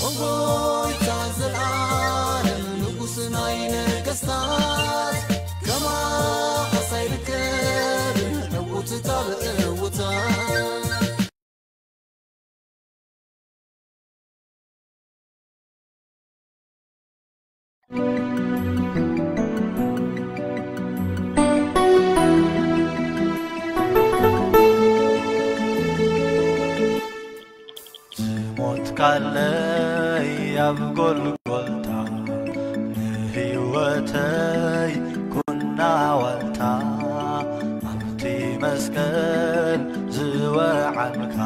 ኦጎይታ ዘልኣለም ንጉስ ናይ ነገስታት፣ ከማኻስ ኣይርከብን ዕውትታ ብዕውታ። ዝሞትካለይ ኣብ ጎልጎልታ፣ ንህይወተይ ኩና ዋልታ፣ ኣብቲ መስቀል ዝወዓልካ፣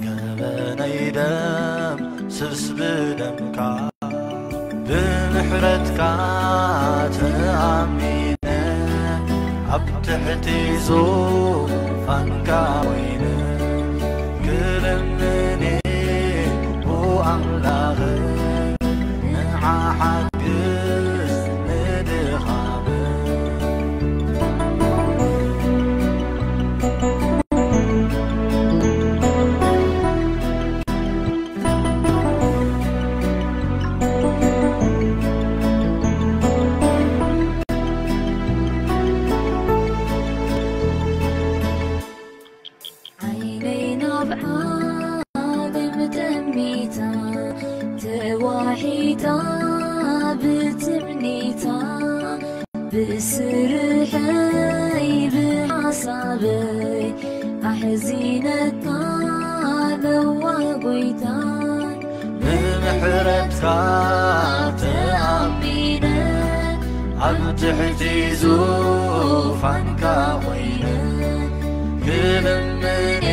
ገበነይ ደምስስ ብደምካ። ብምሕረትካ ተኣሚነ፣ ኣብ ትሕቲ ዙፋንካ ኮይነ፣ ክልምኔ ኣምላኽ፣ ንዓ ሓግዝ ንድኻመይ። ዓይነይ ናብ ዓለም ጠሚታ፣ ተዋሒጣ ብትምኒታ፣ ብስርሐይ ብሓሳበይ ኣሕዚነካ ኣለዋ ጎይታ። ብምሕረትካ ተኣሚነ፣ ኣብ ትሕቲ ዙፋንካ ኮይነ፣ ክልምኔ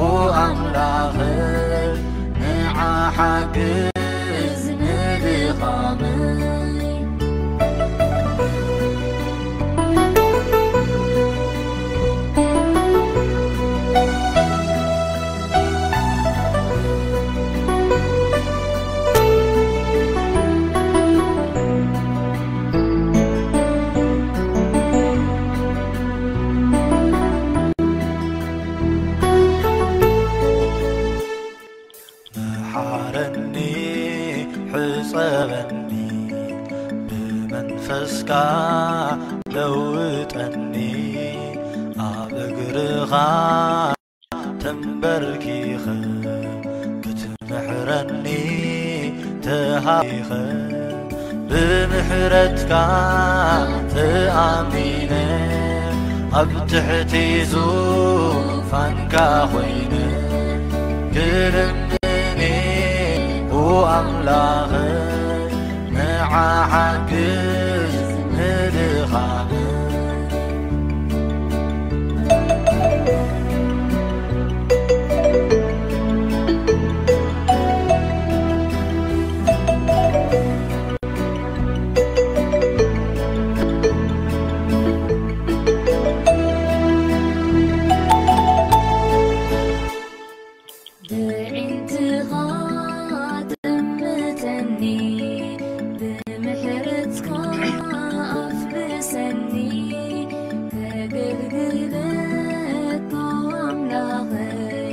ኦ ኣምላኽ፣ ንዓ ሓግዝ ንድኻመይ። መሓረኒ፣ ሕጸበኒ፣ ብመንፈስካ ለውጠኒ፣ ኣብ እግርኻ ተንበርኪኸ ክትምሕረኒ ተሃይኸ። ብምሕረትካ ተኣሚነ፣ ኣብ ትሕቲ ዙፋንካ ኮይነ፣ ክልምኔ ኦ ኣምላኸይ፣ ንዓ ሓግዝ ንድኻመይ። ብዒንትኻ ጠምተኒ፣ ብምሕረትካ ኣፍልሰኒ፣ ከገልግለካ ኣምላኸይ፣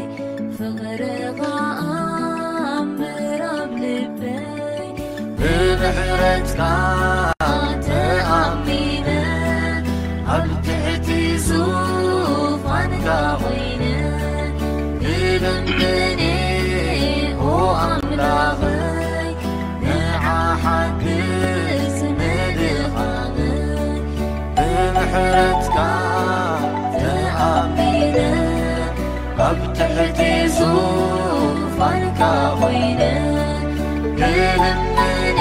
ፍቕርኻ ኣንብር ኣብ ልበይ። ብምሕረትካ ተኣሚነ፣ ኣብ ትሕቲ ዙፋንካ ኮይነ፣ ክልምኔ ኦ ኣምላኸይ፣ ንዓ ሓግዝ ንድኻመይ። ብምሕረትካ ተኣሚነ፣ ኣብ ትሕቲ ዙፋንካ ኮይነ፣ ክልምኔ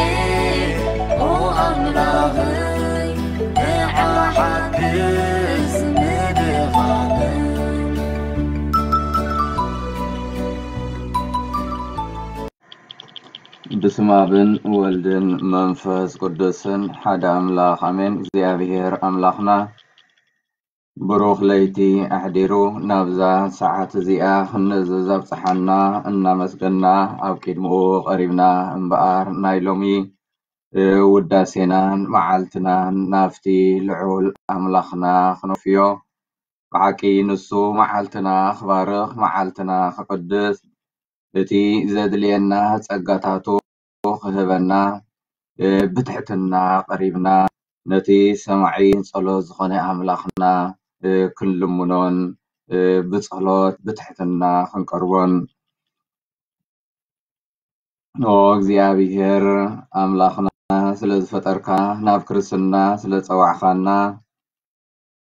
ኦ ኣምላኸይ፣ ንዓ ሓግዝ ንድኻመይ። በስመ ኣብን ወልድን መንፈስ ቅዱስን ሓደ ኣምላኽ ኣሜን። እግዚኣብሔር ኣምላኽና ብሩኽ ለይቲ ኣሕዲሩ ናብዛ ሰዓት እዚኣ ክንእዘዝ ኣብጽሓና እናመስገና ኣብ ቅድሚኡ ቀሪብና እምበኣር፣ ናይ ሎሚ ውዳሴናን መዓልትናን ናብቲ ልዑል ኣምላኽና ክነፍዮ። ብሓቂ ንሱ መዓልትና ክባርኽ፣ መዓልትና ክቅድስ፣ እቲ ዘድልየና ጸጋታቱ ክህበና ብትሕትና ቀሪብና ነቲ ሰማዒ ጸሎት ዝኾነ ኣምላኽና ክንልምኖን ብጸሎት ብትሕትና ክንቀርቦን ኦ እግዚኣብሔር ኣምላኽና ስለ ዝፈጠርካ ናብ ክርስትና ስለ ጸዋዕኻና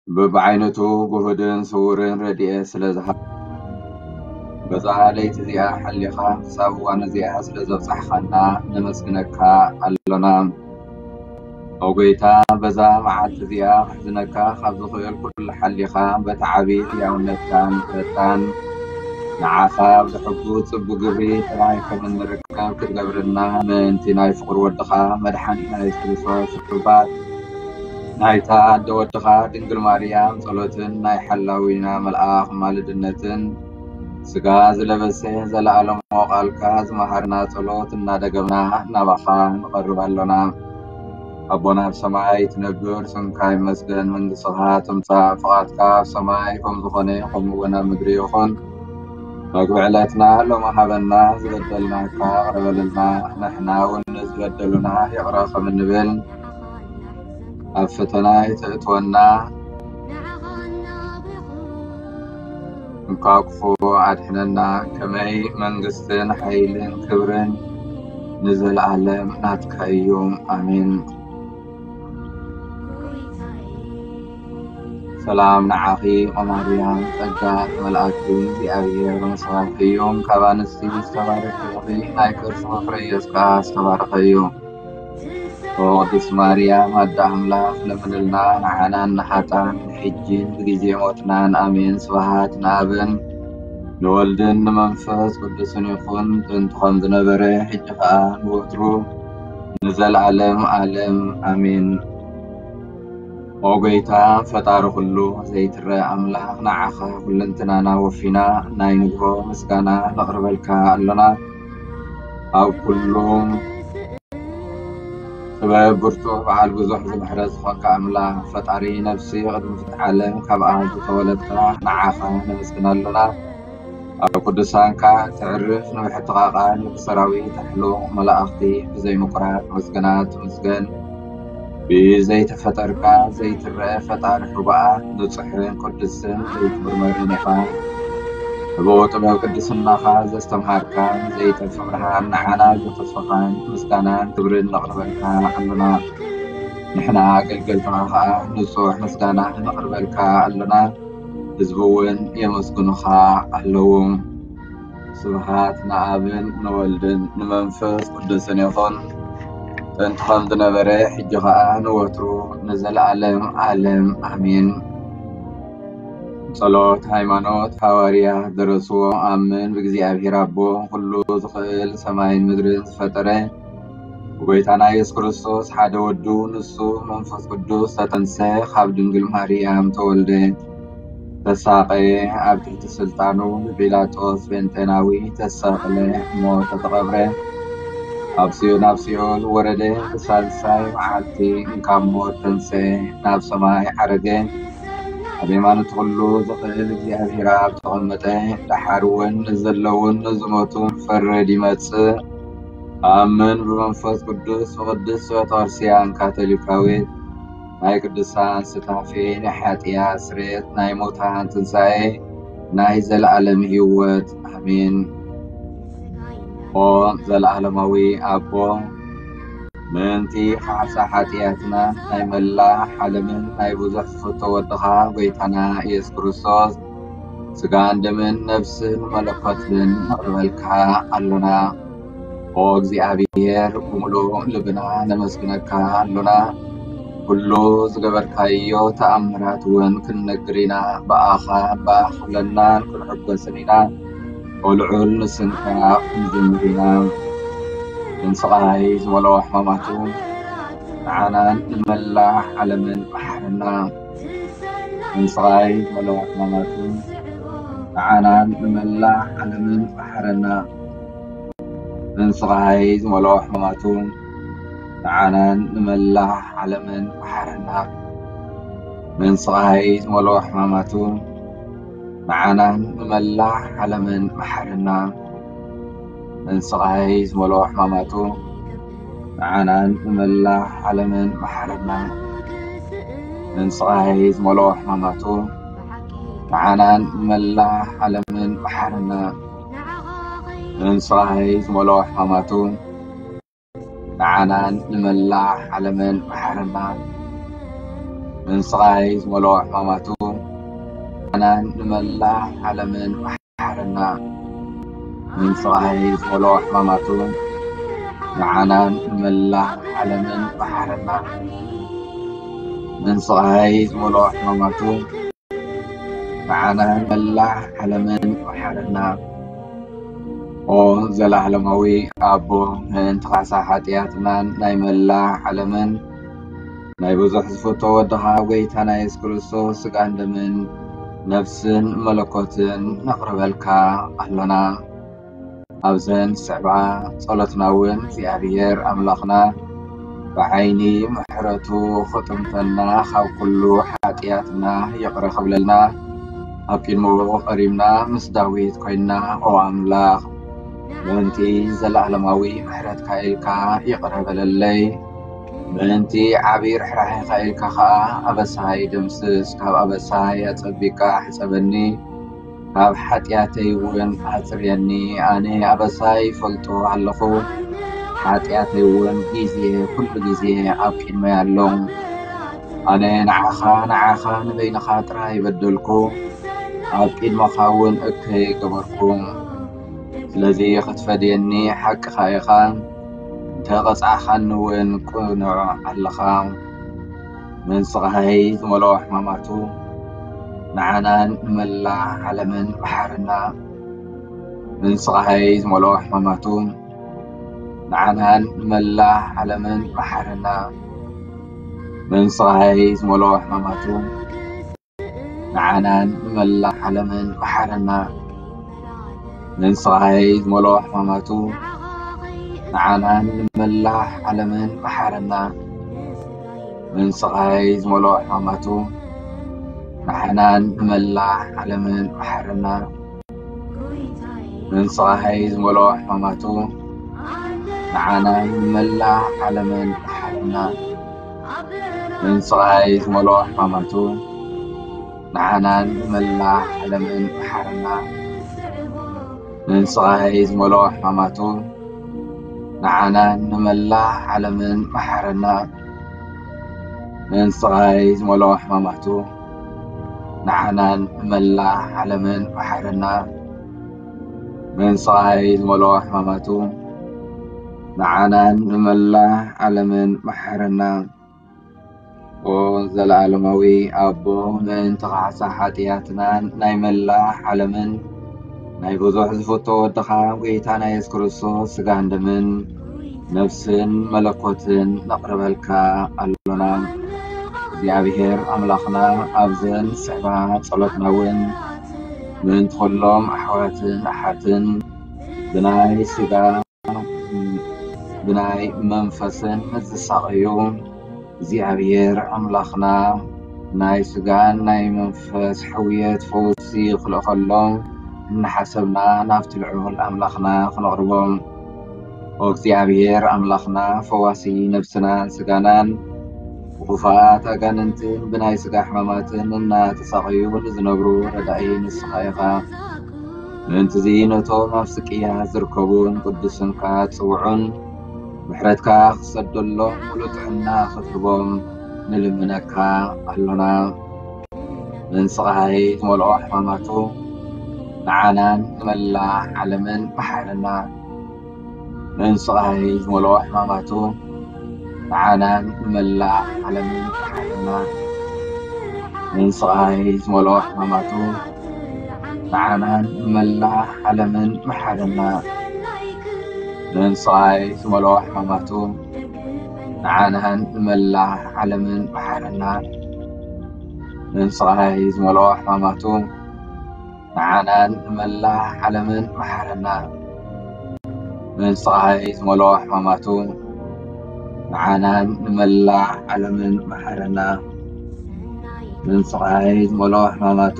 ብብዓይነቱ ግሁድን ስውርን ረድኤት ስለ ዝሃብ በዛ ለይቲ እዚኣ ሓሊኻ ክሳብ እዋን እዚኣ ስለ ዘብጻሕኻና ነመስግነካ ኣሎና። ኦ ጎይታ በዛ መዓልቲ እዚኣ ክሕዝነካ ካብ ዝኽእል ኩሉ ሓሊኻ በቲ ዓቢ ሕያውነትካን ምሕረትካን ንዓኻ ብሕጉ ጽቡቕ ግብሪ ጥራይ ከም እንርከብ ክትገብረና ምእንቲ ናይ ፍቕሪ ወድኻ መድሓኒና የሱስ ክርስቶስ ርባት ናይታ ኣደ ወድኻ ድንግል ማርያም ጸሎትን ናይ ሓላዊና መልኣኽ ማልድነትን ስጋ ዝለበሰ ዘለኣለሞ ቃልካ ዝመሃርና ጸሎት እናደገምና ናባኻ ንቐርብ ኣሎና። ኣቦና ኣብ ሰማይ ትነብር ስምካ ይመስገን፣ መንግስትኻ ትምጻእ፣ ፍቓድካ ኣብ ሰማይ ከም ዝኾነ ከምኡ እውን ኣብ ምድሪ ይኹን። መግቢ ዕለትና ሎሚ ሃበና፣ ዝበደልናካ ይቕረ በለልና፣ ንሕና እውን ንዝበደሉና ይቕረ ከም እንብል፣ ኣብ ፈተና ኣይተእትወና፣ ካብ ክፉ ኣድሕነና። ከመይ መንግስትን ሓይልን ክብርን ንዘለኣለም ናትካ እዩ። ኣሜን። ሰላም ንዓኺ ኦ ማርያም፣ ጸጋ ተመልኣኪ፣ እግዚኣብሔር ምስኻኪ እዩ። ካብ ኣንስቲ ዝተባረኽኪ ኢኺ፣ ናይ ከርስኺ ፍረ ኢየሱስ ከኣ ዝተባረኸ እዩ። ኦ ቅድስት ማርያም ኣደ ኣምላኽ ለምንልና ንዓናን ንሓጣን ሕጂን ብግዜ ሞትናን። ኣሜን። ስብሃት ንኣብን ንወልድን ንመንፈስ ቅዱስን ይኹን፣ ጥንቲ ከም ዝነበረ ሕጂ ኸኣ ንወትሩ ንዘለኣለም ኣለም ኣሜን። ኦ ጎይታ ፈጣሪ ኩሉ ዘይትረ ኣምላኽ ንዓኻ ኩልንትናና ወፊና ናይ ንግሆ ምስጋና ነቕርበልካ ኣሎና። ኣብ ኩሉ ጥበብ ብርቱዕ በዓል ብዙሕ ዝምሕረት ዝኾንካ ኣምላኽ ፈጣሪ ነፍሲ ቅድሚ ፍጥረት ዓለም ካብኣ ዝተወለድካ ንዓኻ ነመስግን ኣሎና። ኣብ ቅዱሳንካ ተዕርፍ ንብሕትኻ ቃል ብሰራዊት ኣሕሉቕ መላእኽቲ ብዘይ ምቁራጽ ምስጋና ትምስገን። ብዘይተፈጠርካ ዘይትረአ ፈጣሪ ሕቡኣት ንጹሕን ቅዱስን ዘይትምርመርን ኢኻ። ሕቡእ ጥበብ ቅድስናኻ ዘስተምሃርካ ዘይጠፍእ ብርሃን ንዓና ዝተስፋኻን ምስጋናን ክብርን ነቕርበልካ ኣሎና። ንሕና ኣገልገልትኻ ኸኣ ንጹሕ ምስጋና ነቕርበልካ ኣሎና። ህዝቢ እውን የመስግኑኻ ኣለዉ። ስብሃት ንኣብን ንወልድን ንመንፈስ ቅዱስን ይኹን። ጥንቲ ከም ዝነበረ ሕጂ ኸኣ ንወትሩ ንዘለኣለም ኣለም ኣሜን። ጸሎት ሃይማኖት። ሃዋርያ ደረስዎ። ኣምን ብእግዚኣብሔር ኣቦ ኩሉ ዝኽእል ሰማይን ምድርን ዝፈጠረ ብጎይታና የሱስ ክርስቶስ ሓደ ወዱ ንሱ መንፈስ ቅዱስ ተጠንሰ ካብ ድንግል ማርያም ተወልደ ተሳቐየ ኣብ ትሕቲ ስልጣኑ ብጲላጦስ ጴንጤናዊ ተሰቕለ ሞተ ተቐብረ። ኣብ ሲዮ ናብ ሲኦል ወረደ ብሳልሳይ መዓልቲ ካብ ሞት ተንሰ ናብ ሰማይ ዓረገ። ኣብ የማኑ እቲ ኩሉ ዝኽእል እግዚኣብሔር ኣብ ተቐመጠ። ደሓር እውን ንዘለውን ንዝሞቱን ክፈርድ ይመጽእ። ኣምን ብመንፈስ ቅዱስ ብቅድስት ቤተክርስትያን ካቶሊካዊት ናይ ቅዱሳን ስታፌ ናይ ሓጢኣት ስርየት ናይ ሙታን ትንሳኤ ናይ ዘለኣለም ህይወት ኣሜን። ኦ ዘለኣለማዊ ኣቦ ምእንቲ ካሕሳ ሓጢኣትና ናይ መላእ ዓለምን ናይ ብዙሕ ዝፍቶ ወድኻ ጎይታና ኢየሱስ ክርስቶስ ስጋን ደምን ነፍስን መለኮትን ነቕርበልካ ኣሎና። ኦ እግዚኣብሔር ብምሉእ ልብና ነመስግነካ ኣሎና። ኩሉ ዝገበርካዮ ተኣምራት እውን ክንነግር ኢና። ብኣኻ እባ ክብለናን ክንሕጎስን ኢና። ኦ ልዑል ንስንካ ክንዝምር ኢና። ንስቓይ ዝመልኦ ሕማማቱ ንዓናን ንመላእ ዓለምን መሓረና። ንስቓይ ዝመልኦ ሕማማቱ ንዓናን ንመላእ ዓለምን መሓረና። ንስቓይ ዝመልኦ ሕማማቱ ንዓናን ንመላእ ዓለምን መሓረና። ንስቓይ ዝመልኦ ሕማማቱ ንዓናን ንመላእ ዓለምን መሓረና። መንስቓይ ዝመልኦ ሕማማቱ ንዓናን ንመላእ ዓለምን መሓረና። መንስቓይ ዝመልኦ ሕማማቱ ንዓናን ንመላእ ዓለምን መሓረና። መንስቓይ ዝመልኦ ሕማማቱ ንዓናን ንመላእ ዓለምን መሓረና። መንስቓይ ዝመልኦ ሕማማቱ ንዓናን ንመላእ ዓለምን መሓረና። መንስቓይ ዝመልኦ ሕማማቱ ንዓናን ንመላእ ዓለምን መሓረና። መንስቓይ ዝመልኦ ሕማማቱ ንዓናን ንመላእ ዓለምን መሓረና። ኦ ዘለዓለማዊ ኣቦ፣ ምእንቲ ካሳ ሓጢኣትናን ናይ መላእ ዓለምን ናይ ብዙሕ ዝፍቶ ወድኻ ጎይታና የሱስ ክርስቶስ ስጋን ደምን ነፍስን መለኮትን ነቕርበልካ ኣሎና። ኣብዘን ዝስዕባ ጸሎትና እውን እግዚኣብሔር ኣምላኽና ብዓይኒ ምሕረቱ ክጥምተና፣ ካብ ኩሉ ሓጢኣትና ይቕረ ክብለልና፣ ኣብ ቅድሚኡ ቀሪብና ምስ ዳዊት ኮይንና፣ ኦ ኣምላኽ፣ ምእንቲ ዘለዓለማዊ ምሕረትካ ኢልካ ይቕረ በለለይ። ምእንቲ ዓቢ ርሕራሄኻ ኢልካ ኸኣ ኣበሳይ ደምስስ፣ ካብ ኣበሳይ ኣጸቢቕካ ሕጸበኒ፣ ካብ ሓጢኣተይ እውን ኣጽርየኒ። ኣነ ኣበሳይ ይፈልጦ ኣለኹ፣ ሓጢኣተይ እውን ግዜ፣ ኩሉ ግዜ ኣብ ቅድመይ ኣሎ። ኣነ ንዓኻ፣ ንዓኻ ንበይንኻ ጥራይ በደልኩ፣ ኣብ ቅድመኻ እውን እከይ ገበርኩ። ስለዚ ክትፈድየኒ ሓቅኻ ኢኻ፣ እንተ ቐጻዕኻኒ እውን ቅኑዕ ኣለኻ። መንስቓይ ዝመልኦ ሕማማቱ ንዓናን ንመላእ ዓለምን መሓረና። መንስቓይ ዝመልኦ ሕማማቱ ንዓናን ንመላእ ዓለምን መሓረና። መንስቓይ ዝመልኦ ሕማማቱ ንዓናን ንመላእ ዓለምን መሓረና። መንስቓይ ዝመልኦ ሕማማቱ ንዓናን ንመላእ ዓለምን መሓረና። መንስቓይ ዝመልኦ ሕማማቱ ንዓናን ንመላእ ዓለምን መሓረና። መንስቓይ ዝመልኦ ሕማማቱ ንዓናን ንመላእ ዓለምን መሓረና። መንስቓይ ዝመልኦ ሕማማቱ ንዓናን ንመላእ ዓለምን መሓረና። መንስቓይ ዝመልኦ ሕማማቱ ንዓናን ንመላእ ዓለምን መሓረና። መንስቓይ ዝመልኦ ሕማማቱ ንዓናን ንመላእ ዓለምን መሓረና። መንስቓይ ዝመልኦ ሕማማቱ ንዓናን ንመላእ ዓለምን መሓረና። ኦ ዘለዓለማዊ ኣቦ፣ ምእንቲ ካሕሳ ሓጢኣትናን ናይ መላእ ዓለምን ናይ ብዙሕ ዝፍቶ ወድኻ ጎይታና የሱስ ክርስቶስ ስጋን ደምን ነፍስን መለኮትን ነቕርበልካ ኣሎና። እግዚኣብሔር ኣምላኽና፣ ኣብዘን ዝስዕባ ጸሎትና እውን ምእንቲ ኩሎም ኣሕዋትን ኣሓትን ብናይ ስጋ ብናይ መንፈስን ዝሳቐዩ እግዚኣብሔር ኣምላኽና፣ ናይ ስጋን ናይ መንፈስ ሕውየት ፈውሲ ክልእኸሎም እናሓሰብና ናብቲ ልዑል ኣምላኽና ክነቕርቦም። ኦ እግዚኣብሔር ኣምላኽና፣ ፈዋሲ ነብስናን ስጋናን፣ ብኽፉኣት ኣጋንንትን ብናይ ስጋ ሕማማትን እናተሳቐዩ ንዝነብሩ ረዳኢ ንስኻ ኢኻ። ምእንትዚ ነቶም ኣብ ስቅያ ዝርከቡ ንቅዱስ ስምካ ጽውዑን ምሕረትካ ክሰደሎም ሙሉእ ጥዕና ክትህቦም ንልምነካ ኣሎና። መንስቓይ ዝመልኦ ሕማማቱ ንዓናን ንመላእ ዓለምን መሓረና። መንስቓይ ዝመልኦ ሕማማቱ ንዓናን ንመላእ ዓለምን መሓረና። መንስቓይ ዝመልኦ ሕማማቱ ንዓናን ንመላእ ዓለምን መሓረና። መንስቓይ ዝመልኦ ሕማማቱ ንዓናን ንመላእ ዓለምን መሓረና። መንስቓይ ዝመልኦ ሕማማቱ ንዓናን ንመላእ ዓለምን መሓረና። መንስቓይ ዝመልኦ ሕማማቱ ንዓናን ንመላእ ዓለምን መሓረና። መንስቓይ ዝመልኦ ሕማማቱ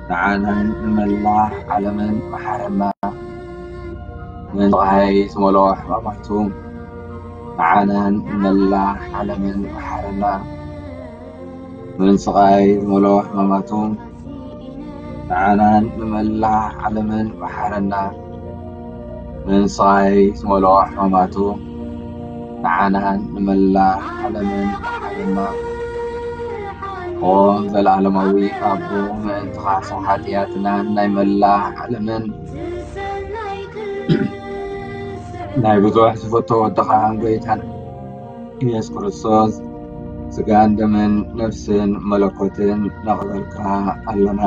ንዓናን ንመላእ ዓለምን መሓረና። ምን ስቓይ ዝመልኦ ሕማማቱ ንዓናን ንመላእ ዓለምን መሓረና። ምን ስቓይ ዝመልኦ ሕማማቱ ንዓናን ንመላእ ዓለምን መሓረና። ምን ስቓይ ዝመልኦ ሕማማቱ ንዓናን ንመላእ ዓለምን መሓረና። ኦ ዘለዓለማዊ ኣቦ፣ ምእንቲ ካሕሳ ሓጢኣትናን ናይ መላእ ዓለምን ናይ ብዙሕ ዝፈቶ ወድኻ ጎይታን ኢየሱስ ክርስቶስ ስጋን ደምን ነፍስን መለኮትን ነቕበልካ ኣለና።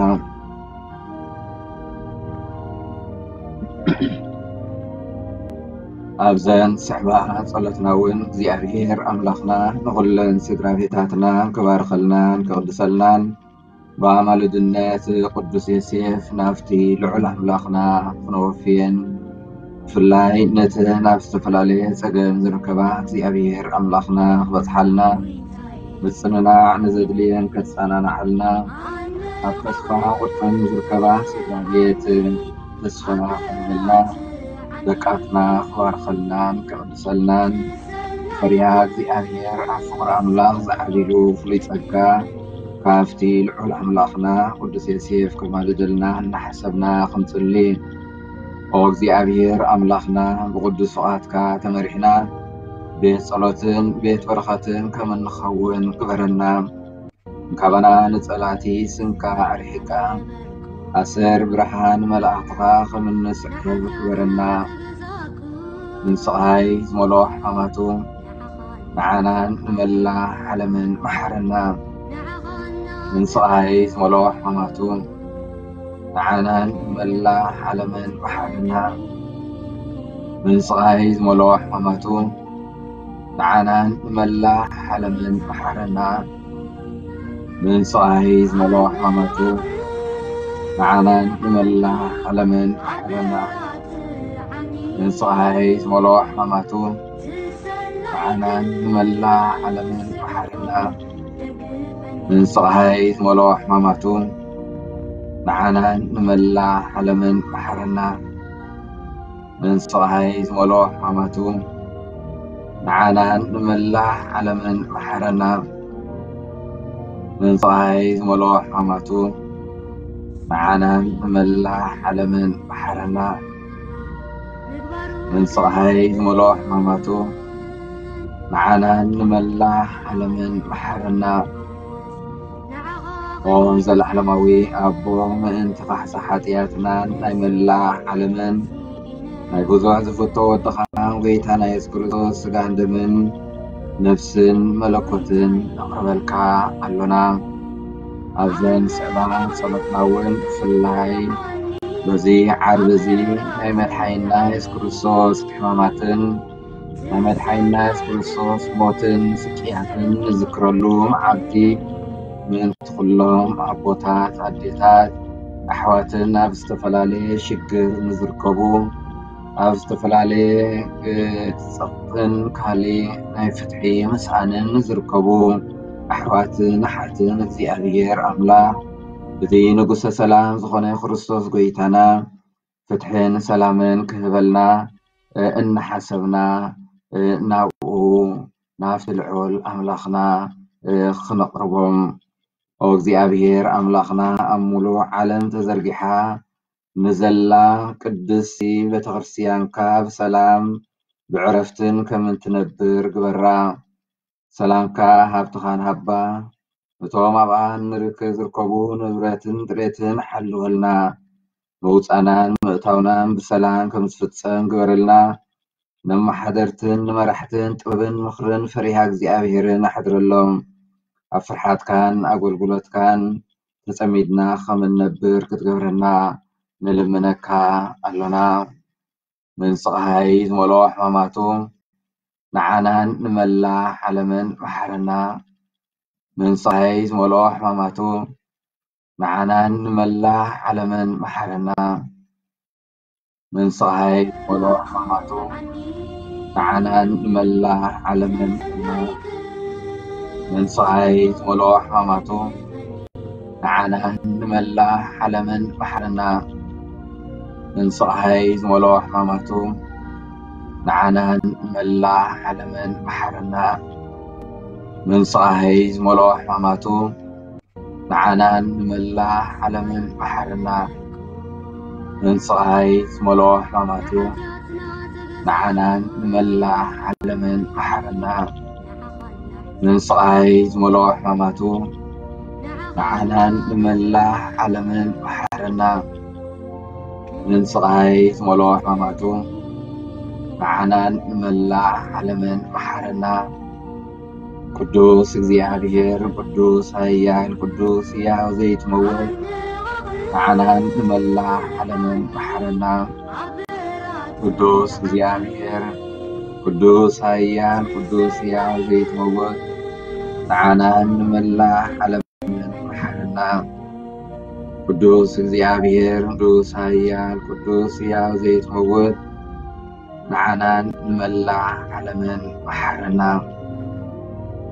ኣብዘን ስሕባ ጸሎትና እውን እግዚኣብሔር ኣምላኽና ንኹለን ስድራ ቤታትና ክባርኸልናን ክቕድሰልናን ብኣማልድነት ቅዱስ ዮሴፍ ናብቲ ልዑል ኣምላኽና ክነወፍየን፣ ብፍላይ ነተን ኣብ ዝተፈላለየ ጸገም ዝርከባ እግዚኣብሔር ኣምላኽና ክበጽሓልና፣ ምጽንናዕ ንዘድልየን ከጸናንዓልና፣ ኣብ ተስፋ ቁርጠን ዝርከባ ስድራ ቤት ተስፋ ክህበና፣ ደቃትና ክባርኸልናን ክቕድሰልናን፣ ፈሪሃ እግዚኣብሔር ኣብ ፍቕሪ ኣምላኽ ዝዓቢሉ ፍሉይ ጸጋ ካብቲ ልዑል ኣምላኽና ቅዱስ ዮሴፍ ከማልደልና እናሓሰብና ክንጽሊ። ኦ እግዚኣብሔር ኣምላኽና፣ ብቅዱስ ፍቓድካ ተመሪሕና ቤት ጸሎትን ቤት በረኸትን ከም እንኸውን ግበረና። ካባና ንጸላእቲ ስንካ ኣርሒቕካ፣ ኣሰር ብርሃን መላእኽትኻ ከም እንስዕብ ግበረና። ምን ስቓይ ዝመልኦ ሕማማቱ ንዓናን ንመላእ ዓለምን መሓረና። ምን ስቓይ ዝመልኦ ሕማማቱ ንዓናን ንመላእ ዓለምን መሓረና። ምን ስቓይ ዝመልኦ ሕማማቱ ንዓናን ንመላእ ዓለምን መሓረና። ምን ስቓይ ዝመልኦ ሕማማቱ ንዓናን ንመላእ ዓለምን መሓረና። ምን ስቓይ ዝመልኦ ሕማማቱ ንዓናን ንመላእ ዓለምን መሓረና። ምን ስቓይ ዝመልኦ ሕማማቱ ንዓናን ንመላእ ዓለምን መሓረና። ምን ስቓይ ዝመልኦ ሕማማቱ ንዓናን ንመላእ ዓለምን መሓረና። ምን ስቓይ ዝመልኦ ሕማማቱ ንዓናን ንመላእ ዓለምን መሓረና። ምን ስቓይ ዝመልኦ ሕማማቱ ንዓናን ንመላእ ዓለምን መሓረና። ኦ ዘለዓለማዊ ኣቦ፣ ምእንቲ ካሕሳ ሓጢኣትናን ናይ መላእ ዓለምን ናይ ብዙሕ ዝፍቶ ወድኻ ጎይታና የሱስ ክርስቶስ ስጋን ደምን ነፍስን መለኮትን ነቕርበልካ ኣሎና። ኣብዘን ስዕባ ጸሎትና እውን ብፍላይ በዚ ዓርቢ እዚ ናይ መድሓኒና የሱስ ክርስቶስ ሕማማትን ናይ መድሓኒና የሱስ ክርስቶስ ሞትን ስቅያትን ንዝክረሉ መዓልቲ ምእንቲ ኩሎም ኣቦታት፣ ኣዴታት፣ ኣሕዋትን ኣብ ዝተፈላለየ ሽግር ንዝርከቡ፣ ኣብ ዝተፈላለየ እ፣ ጸቕጥን ካልእ ናይ ፍትሒ ምስኣንን ንዝርከቡ ኣሕዋትን ኣሓትን እግዚኣብሔር ኣምላኽ እቲ ንጉሰ ሰላም ዝኾነ ክርስቶስ ጎይታና ፍትሕን ሰላምን ክህበልና እ፣ እናሓሰብና እ፣ ናብኡ ናብቲ ልዑል ኣምላኽና እ፣ ክነቕርቦም። ኦ እግዚኣብሔር ኣምላኽና፣ ኣብ ሙሉእ ዓለም ተዘርጊሓ ንዘላ ቅድስቲ ቤተክርስትያንካ ብሰላም ብዕረፍትን ከም እንትነብር ግበራ። ሰላምካ ሃብትኻን ሃባ። እቶም ኣብኣ ንርክ ዝርከቡ ንብረትን ጥሬትን ሓልወልና። ምውፃናን ምእታውናን ብሰላም ከም ዝፍጸም ግበረልና። ንመሓደርትን ንመራሕትን ጥበብን ምኽርን ፈሪሃ እግዚኣብሔርን ኣሕድረሎም። ኣብ ፍርሓትካን ኣገልግሎትካን ተጸሚድና ከም እንነብር ክትገብረና ንልምነካ ኣሎና። ምን ስቓይ ዝመልኦ ሕማማቱ ንዓናን ንመላእ ዓለምን መሓረና። ምን ስቓይ ዝመልኦ ሕማማቱ ንዓናን ንመላእ ዓለምን መሓረና። ምን ስቓይ ዝመልኦ ሕማማቱ ንዓናን ንመላእ ዓለምን መሓረና። ምን ስቓይ ዝመልኦ ሕማማቱ ንዓናን ንመላእ ዓለምን መሓረና። ምን ስቓይ ዝመልኦ ሕማማቱ ንዓናን ንመላእ ዓለምን መሓረና። ምን ስቓይ ዝመልኦ ሕማማቱ፣ ንዓናን ንመላእ ዓለምን መሓረና። ምን ስቓይ ዝመልኦ ሕማማቱ፣ ንዓናን ንመላእ ዓለምን መሓረና። ምን ስቓይ ዝመልኦ ሕማማቱ፣ ንዓናን ንመላእ ዓለምን መሓረና። ምን ስቓይ ዝመልኦ ሕማማቱ፣ ንዓናን ንመላእ ዓለምን መሓረና። ቅዱስ እግዚኣብሔር፣ ቅዱስ ኃያል፣ ቅዱስ ሕያው ዘይትመውት፣ ንዓናን ንመላእ ዓለምን መሓረና። ቅዱስ እግዚኣብሔር፣ ቅዱስ ኃያል፣ ቅዱስ ሕያው ዘይትመውት፣ ንዓናን ንመላእ ዓለምን መሓረና። ቅዱስ እግዚኣብሔር፣ ቅዱስ ኃያል፣ ቅዱስ ሕያው ዘይትመውት፣ ንዓናን ንመላእ ዓለምን መሓረና።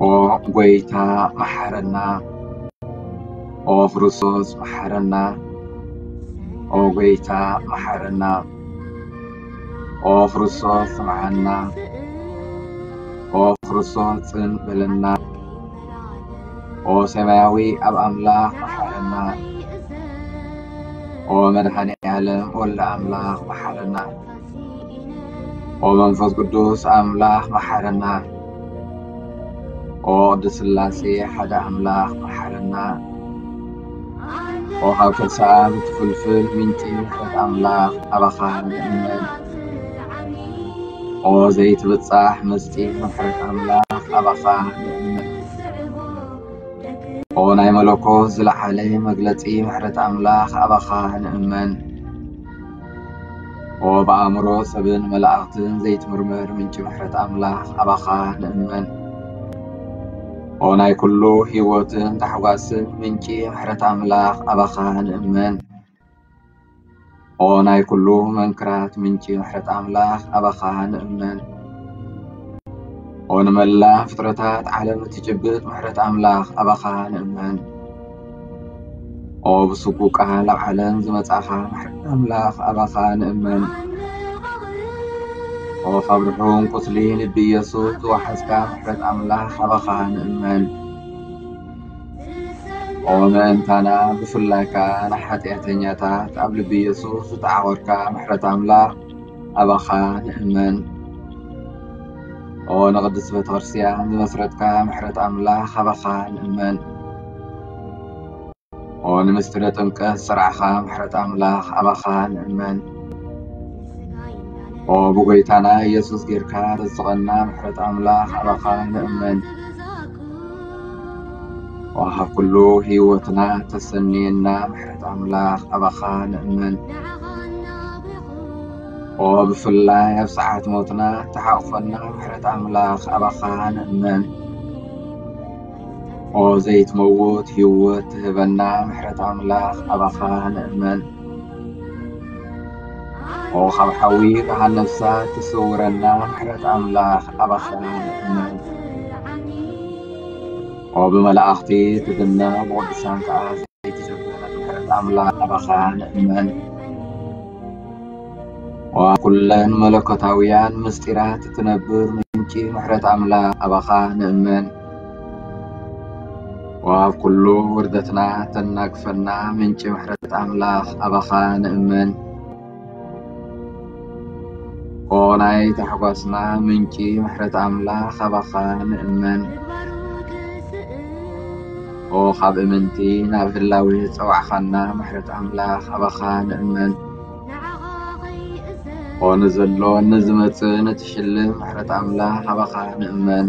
ኦ ጐይታ መሓረና። ኦ ክርስቶስ መሓረና። ኦ ጐይታ መሓረና። ኦ ክርስቶስ ስምዓና። ኦ ክርስቶስ ጽን በለና። ኦ ሰማያዊ ኣብ ኣምላኽ መሓረና። ኦ መድኃኔ ዓለም ወልደ ኣምላኽ መሓረና። ኦ መንፈስ ቅዱስ ኣምላኽ መሓረና። ኦ ቅድስት ሥላሴ ሓደ ኣምላኽ መሓረና። ኦ ካብ ከርሳ ኣብ እትፍልፍል ምንጪ ምሕረት ኣምላኽ ኣባኻ ንእመን። ኦ ዘይትብጻሕ ምስጢር ምሕረት ኣምላኽ ኣባኻ ንእመን። ኦ ናይ መለኮት ዝለዓለ መግለጺ ምሕረት ኣምላኽ ኣባኻ ንእመን። ኦ ብኣእምሮ ሰብን መላእኽትን ዘይትምርመር ምንጪ ምሕረት ኣምላኽ ኣባኻ ንእመን። ኦ ናይ ኩሉ ህይወትን ታሕጓስን ምንጪ ምሕረት ኣምላኽ ኣባኻ ንእመን። ኦ ናይ ኩሉ መንክራት ምንጪ ምሕረት ኣምላኽ ኣባኻ ንእመን። ኦ ንመላእ ፍጥረታት ዓለም እትጭብጥ ምሕረት ኣምላኽ ኣባኻ ንእመን። ኦ ብስጉ ቃል ኣብ ዓለም ዝመጻኻ ምሕረት ኣምላኽ ኣባኻ ንእመን። ኦ ካብ ርሑም ቁስሊ ልቢ ኢየሱስ ዝወሓዝካ ምሕረት ኣምላኽ ኣባኻ ንእመን። ኦ ምእንታና ብፍላይ ከኣ ንሓጢኣተኛታት ኣብ ልቢ ኢየሱስ ዝተዓቖርካ ምሕረት ኣምላኽ ኣባኻ ንእመን። ኦ ንቅድስት ቤተ ክርስቲያን ዝመስረትካ ምሕረት ኣምላኽ ኣባኻ ንእመን። ኦ ንምስጢረ ጥምቀት ዝጸራዕኻ ምሕረት ኣምላኽ ኣባኻ ንእመን። ኦ ብጎይታና ኢየሱስ ጌርካ ተዝቐና ምሕረት ኣምላኽ ኣባኻ ንእመን። ኦ ካብ ኩሉ ህይወትና ተሰንየና ምሕረት ኣምላኽ ኣባኻ ንእመን። ኦ ብፍላይ ኣብ ሰዓት ሞትና ተሓቑፈና ምሕረት ኣምላኽ ኣባኻ ንእመን። ኦ ዘይትመውት ህይወት ትህበና ምሕረት ኣምላኽ ኣባኻ ንእመን። ኦ ካብ ሓዊ ገሃነም እሳት ትስውረና ምሕረት ኣምላኽ ኣባኻ ንእመን። ኦ ብመላእኽቲ ትድነቕ ብቅዱሳን ከኣ ዘይትጭበጥ ምሕረት ኣምላኽ ኣባኻ ንእመን። ኦ ኣብ ኩለን መለኮታውያን ምስጢራት እትነብር ምንጪ ምሕረት ኣምላኽ ኣባኻ ንእመን። ኦ ኣብ ኩሉ ውርደትና ተናግፈና ምንጪ ምሕረት ኣምላኽ ኣባኻ ንእመን። ኦ ናይ ታሕጓስና ምንጪ ምሕረት ኣምላኽ ኣባኻ ንእመን። ኦ ካብ እምንቲ ናብ ህላዌ ዝጸዋዕኻና ምሕረት ኣምላኽ ኣባኻ ንእመን። ኦ ንዘሎን ንዝመጽእን እትሽልም ምሕረት ኣምላኽ ኣባኻ ንእመን።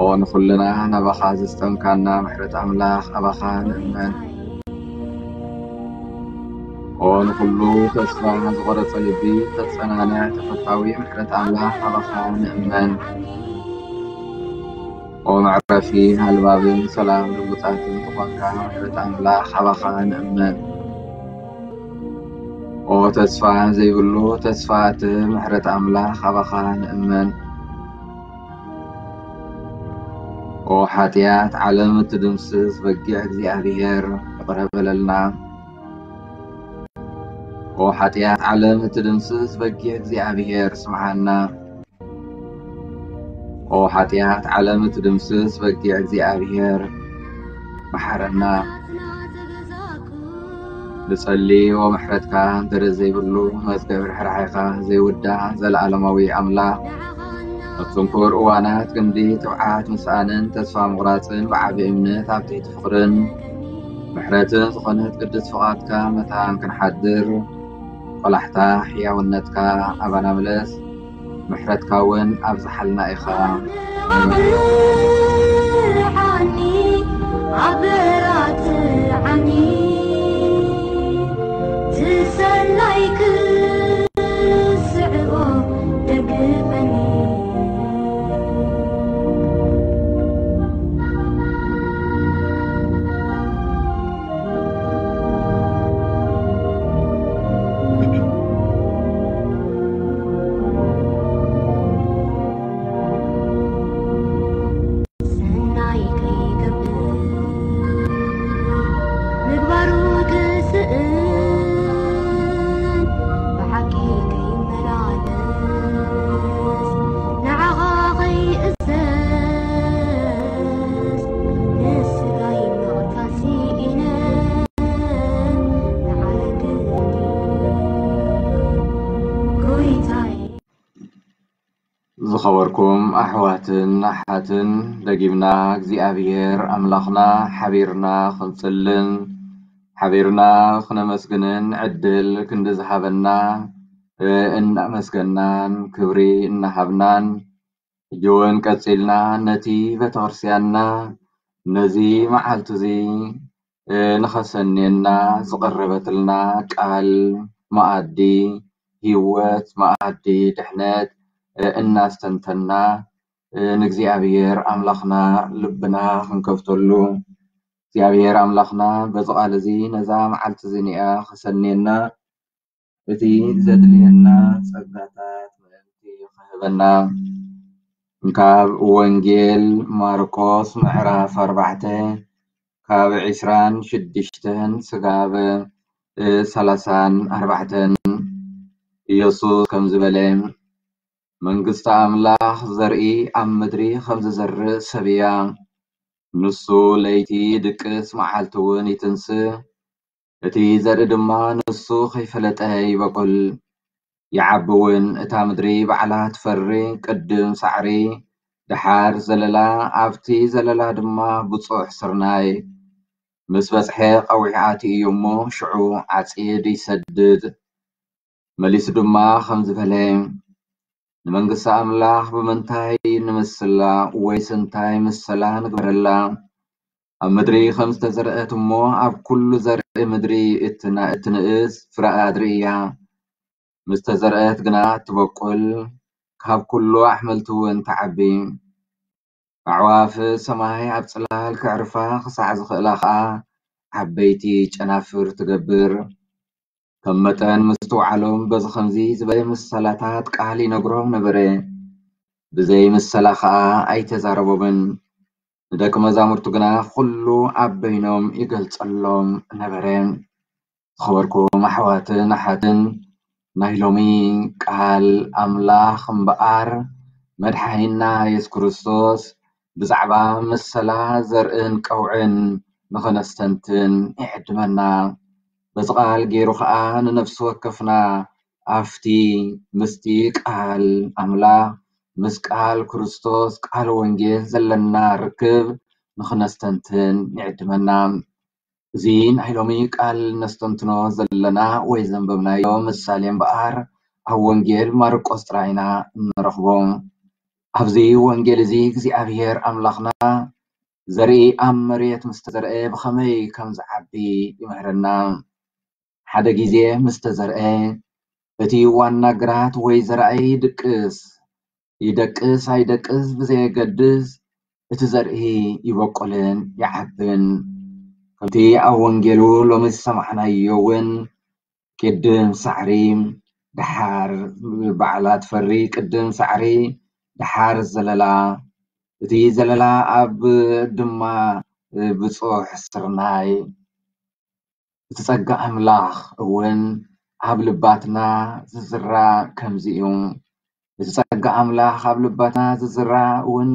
ኦ ንኹልና ናባኻ ዘስጠምካና ምሕረት ኣምላኽ ኣባኻ ንእመን። ኦ ንኹሉ ተስፋ ዝቖረጸ ልቢ ተጸናንዕ ተፈታዊ ምሕረት ኣምላኽ ኣባኻ ንእመን። ኦ መዕረፊ ኣልባብን ሰላም ልውጣትን ዝኾንካ ምሕረት ኣምላኽ ኣባኻ ንእመን። ኦ ተስፋ ዘይብሉ ተስፋ እትህብ ምሕረት ኣምላኽ ኣባኻ ንእመን። ኦ ሓጢኣት ዓለም እትድምስስ በጊዕ እግዚኣብሔር ይቕረ በለልና። ኦ ሓጢኣት ዓለም እትድምስስ በጊዕ እግዚኣብሔር ስምዓና። ኦ ሓጢኣት ዓለም እትድምስስ በጊዕ እግዚኣብሔር መሓረና። ንጸሊ ኦ ምሕረትካ ደረት ዘይብሉ መዝገብ ርሕራሕካ ዘይውዳእ ዘለዓለማዊ ኣምላኽ ኣብ ጽንኩር እዋናት ክንዲ ትብዓት ምስኣንን ተስፋ ምቑራጽን ብዓቢ እምነት ኣብ ትሕቲ ፍቕርን ምሕረትን ዝኾነት ቅድስት ፍቓድካ መታን ክንሓድር ቆላሕታ ሕያውነትካ ኣባና ምለስ። ምሕረትካ እውን ኣብዝሓልና ኢኻ። ዝኸበርኩም ኣሕዋትን ኣሓትን፣ ደጊምና እግዚኣብሔር ኣምላኽና ሓቢርና ክንጽልን ሓቢርና ክነመስግንን ዕድል ክንዲ ዝሃበና እናመስገናን ክብሪ እናሃብናን፣ ሕጂ እውን ቀጺልና ነቲ ቤተክርስትያንና ነዚ መዓልቲ እዚ ንኸሰንየና ዝቐረበትልና ቃል መኣዲ ህይወት፣ መኣዲ ድሕነት እናስተንተና ንእግዚኣብሔር ኣምላኽና ልብና ክንከፍተሉ፣ እግዚኣብሔር ኣምላኽና በዚ ቃል እዚ ነዛ መዓልቲ እዚ ንያ ከሰንየና፣ እቲ ዘድልየና ጸጋታት ምእንቲ ክህበና። ካብ ወንጌል ማርቆስ ምዕራፍ ኣርባዕተ ካብ ዕስራን ሽዱሽተን ስጋብ ሰላሳን ኣርባዕተን ኢየሱስ ከምዚ በለ፣ መንግስቲ ኣምላኽ ዘርኢ ኣብ ምድሪ ከም ዝዘርእ ሰብ እያ። ንሱ ለይቲ ድቅስ መዓልቲ እውን ይትንስእ። እቲ ዘርኢ ድማ ንሱ ከይፈለጠ ይበቁል፣ ይዓቢ እውን። እታ ምድሪ ባዕላ ትፈሪ፣ ቅድም ሳዕሪ፣ ደሓር ዘለላ፣ ኣብቲ ዘለላ ድማ ብጹሕ ስርናይ። ምስ በጽሐ ቀዊሑ ኣትዩ እዩ እሞ፣ ሽዑ ዓጺድ ይሰድድ። መሊሱ ድማ ከምዚ በለ፣ ንመንግስቲ ኣምላኽ ብምንታይ ንምስላ፣ ወይስ እንታይ ምሰላ ንግበረላ? ኣብ ምድሪ ከም ዝተዘርአት እሞ፣ ኣብ ኩሉ ዘርኢ ምድሪ እትና-፣ እትንእስ ፍረ ኣድሪ እያ። ምስ ተዘርአት ግና እትበቁል፣ ካብ ኩሉ ኣሕምልቲ እውን ትዓቢ። ኣዕዋፍ ሰማይ ኣብ ጽላል ከዕርፋ ክሳዕ ዝኽእላ ኸኣ፣ ዓበይቲ ጨናፍር ትገብር። ከም መጠን ምስትውዓሎም በዚ ኸምዚ ዝበለ ምሰላታት ቃል ይነግሮም ነበረ። ብዘይ ምሰላ ኸኣ ኣይተዛረቦምን። ንደቂ መዛሙርቱ ግና ኹሉ ኣብ በይኖም ይገልጸሎም ነበረ። ዝኸበርኩም ኣሕዋትን ኣሓትን፣ ናይ ሎሚ ቃል ኣምላኽ እምበኣር መድሓኒና የሱስ ክርስቶስ ብዛዕባ ምሰላ ዘርእን ቀውዕን ንኸነስተንትን ይዕድመና። በዚ ቃል ገይሩ ኸኣ ንነፍሲ ወከፍና ኣብቲ ምስቲ ቃል ኣምላኽ፣ ምስ ቃል ክርስቶስ፣ ቃል ወንጌል ዘለና ርክብ ንኽነስተንትን ይዕድመና። እዚ ናይ ሎሚ ቃል ነስተንትኖ ዘለና ወይ ዘንበብናዮ ምሳሌ እምበኣር ኣብ ወንጌል ማርቆስ ጥራይ ኢና እንረኽቦ። ኣብዚ ወንጌል እዚ እግዚኣብሔር ኣምላኽና ዘርኢ ኣብ መሬት ምስ ተዘርአ ብኸመይ ከም ዝዓቢ ይምህረና። ሓደ ግዜ ምስ ተዘርአ፣ እቲ ዋና ግራት ወይ ዘርኣይ ይድቅስ፣ ይደቅስ ኣይደቅስ ብዘየገድስ፣ እቲ ዘርኢ ይበቁልን ይዓብን። ከምቲ ኣብ ወንጌሉ ሎሚ ዝሰማዕናዮ እውን፣ ቅድም ሳዕሪ፣ ደሓር ባዕላ ትፈሪ፣ ቅድም ሳዕሪ፣ ደሓር ዘለላ፣ እቲ ዘለላ ኣብ ድማ ብጹሕ ስርናይ። እቲ ጸጋ ኣምላኽ እውን ኣብ ልባትና ዝዝራ ከምዚ እዩ። እቲ ጸጋ ኣምላኽ ኣብ ልባትና ዝዝራ እውን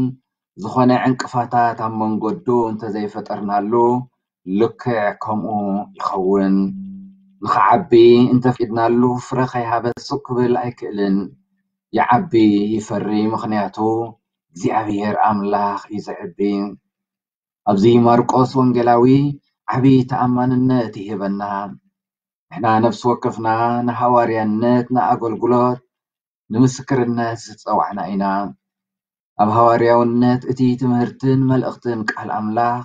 ዝኾነ ዕንቅፋታት ኣብ መንገዱ እንተዘይፈጠርናሉ ልክዕ ከምኡ ይኸውን። ንኽዓቢ እንተፍቂድናሉ ፍረ ከይሃበ ስቕ ክብል ኣይክእልን። ይዓቢ ይፈሪ፣ ምኽንያቱ እግዚኣብሔር ኣምላኽ እዩ ዘዕቢ። ኣብዚ ማርቆስ ወንጌላዊ ዓቢ ተኣማንነት ይህበና። ንሕና ነፍሲ ወከፍና ንሃዋርያነት፣ ንኣገልግሎት፣ ንምስክርነት ዝጸዋዕና ኢና። ኣብ ሃዋርያውነት እቲ ትምህርትን መልእኽትን ቃል ኣምላኽ